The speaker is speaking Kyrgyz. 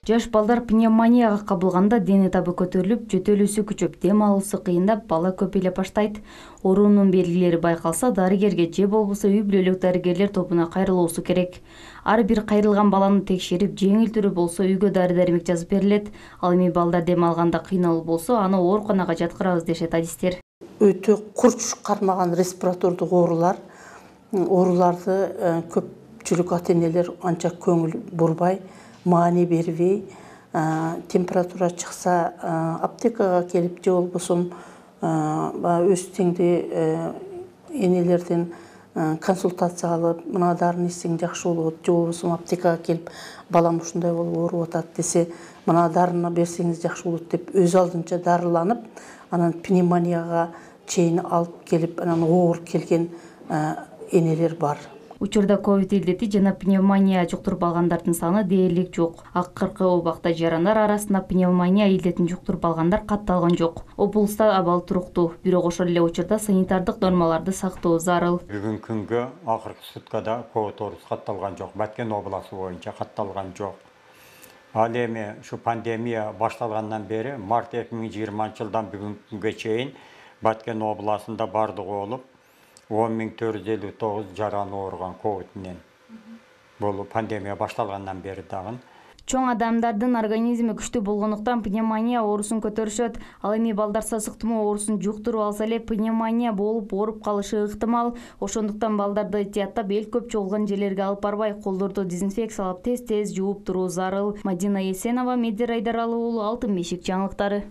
Жаш балдар пневмонияга кабылганда дене табы көтөрүлүп, жөтөлүүсү күчөп, дем алуусу кыйындап, бала көпөйлөп баштайт. Оорунун белгилери байкалса, дарыгерге же болбосо үй бүлөлүк дарыгерлер тобуна кайрылуусу керек. Ар бир кайрылган баланы текшерип, жеңил түрү болсо үйгө дары-дармек жазып берилет. Ал эми балдар дем алганда кыйналуу болсо, аны ооруканага жаткырабыз дешет адистер. Өтө курч кармаган респиратордук ооруларды көпчүлүк ата-энелер анча көңүл бурбай, маани бербей, температура чыкса аптекага келип же болбосо өз теңдүү энелерден консультация алып, мына дарыны ичсең жакшы болот, же болбосо аптекага келип балам ушундай болуп ооруп атат десе, мына дарыны берсеңиз жакшы болот деп өз алдынча дарыланып, анан пневмонияга чейин алып келип, анан оор келген энелер бар. Учурда ковид илдети жана пневмония жуктуруп алгандардын саны дээрлик жок. Акыркы убакта жарандар арасында пневмония илдетин жуктуруп алгандар катталган жок. Облуста абал туруктуу, бирок ошол эле учурда санитардык нормаларды сактоо зарыл. Бүгүнкү күнгө акыркы суткада ковид оорусу катталган жок. Баткен областы боюнча катталган жок. Ал эми ушу пандемия башталгандан бери март 2020-жылдан бүгүнкү күнгө чейин Баткен областында бардыгы болуп 10.459 жаран ооруган ковид менен. Бул пандемия башталгандан бери дагы. Чоң адамдардын организми күчтүү болгондуктан пневмония оорусун көтөрүшөт. Ал эми балдар сасык тумоо оорусун жуктуруп алса эле пневмония болуп ооруп калышы ыктымал. Ошондуктан балдарды этияттап эл көп чогулган жерлерге алып барбай, колдорду дезинфекциялап тез-тез жууп туруу зарыл. Мадина Есенова, Медер Айдаралы уулу, Алтын бешик жаңылыктары.